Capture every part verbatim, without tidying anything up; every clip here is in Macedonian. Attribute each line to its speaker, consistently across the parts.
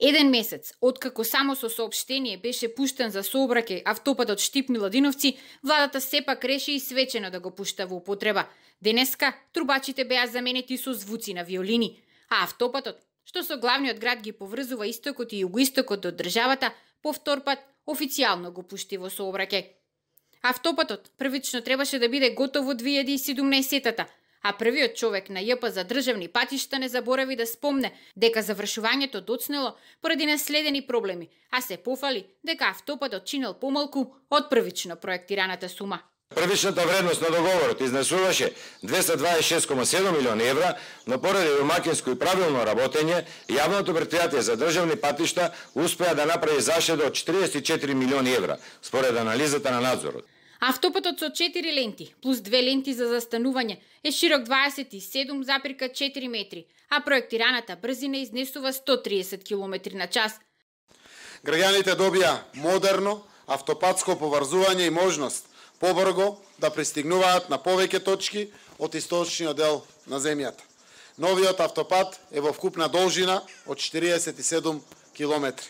Speaker 1: Еден месец, откако само со соопштение беше пуштен за сообраќај автопатот Штип-Миладиновци, владата сепак реши и свечено да го пушта во употреба. Денеска трубачите беа заменети со звуци на виолини, а автопатот, што со главниот град ги поврзува истокот и југоистокот од државата, повтор пат официјално го пушти во сообраќај. Автопатот првично требаше да биде готов во две илјади и седумнаесетата, а првиот човек на Ј П за државни патишта не заборави да спомне дека завршувањето доцнело поради наследени проблеми, а се пофали дека автопатот чинел помалку од првично проектираната сума.
Speaker 2: Првичната вредност на договорот изнесуваше двеста дваесет и шест кома седум милиони евра, но поради домаќинско и правилно работење, јавното претпријатие за државни патишта успеа да направи заштеда од четириесет и четири милиони евра, според анализата на надзорот.
Speaker 1: Автопатот со четири ленти плюс две ленти за застанување е широк дваесет и седум запирка четири метри, а проектираната брзина изнесува сто триесет километри на час.
Speaker 3: Граѓаните добија модерно автопатско поврзување и можност побрзо да пристигнуваат на повеќе точки од источниот дел на земјата. Новиот автопат е во вкупна должина од четириесет и седум километри.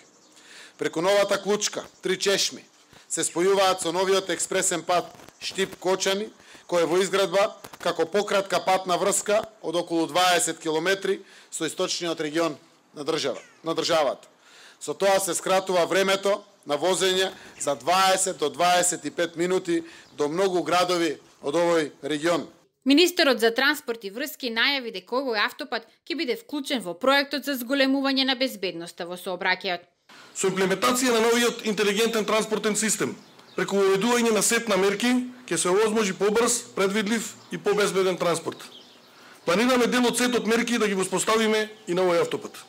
Speaker 3: Преку новата клучка, три чешми, се спојуваат со новиот експресен пат Штип-Кочани, кој е во изградба како пократка патна врска од околу дваесет километри со источниот регион на држава, на државата. Со тоа се скратува времето на возење за дваесет до дваесет и пет минути до многу градови од овој регион.
Speaker 1: Министерот за транспорт и врски најави дека овој автопат ќе биде вклучен во проектот за зголемување на безбедноста во сообраќајот.
Speaker 4: Со имплементација на новиот интелигентен транспортен систем, преку уведување на сет на мерки, ќе се овозможи побрз, предвидлив и побезбеден транспорт. Планираме дел од сетот мерки да ги воспоставиме и на овој автопат.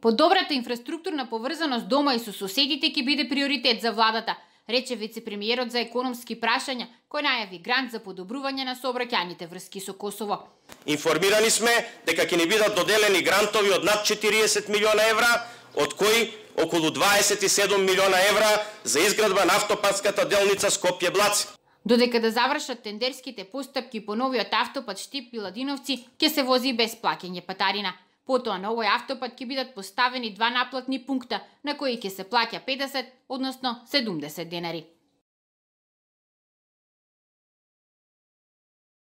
Speaker 1: Подобрата инфраструктурна поврзаност дома и со соседите ќе биде приоритет за владата, рече вице-премиерот за економски прашања, кој најави грант за подобрување на сообраќајните врски со Косово.
Speaker 5: Информирани сме дека ќе ни бидат доделени грантови од над четириесет милиона евра, од кои околу дваесет и седум милиона евра за изградба на автопатската делница Скопје-Блаци.
Speaker 1: Додека да завршат тендерските постапки по новиот автопат Штип-Миладиновци, ќе се вози без плаќање патарина. Потоа на овој автопат ќе бидат поставени два наплатни пункта на кои ќе се плаќа педесет, односно седумдесет денари.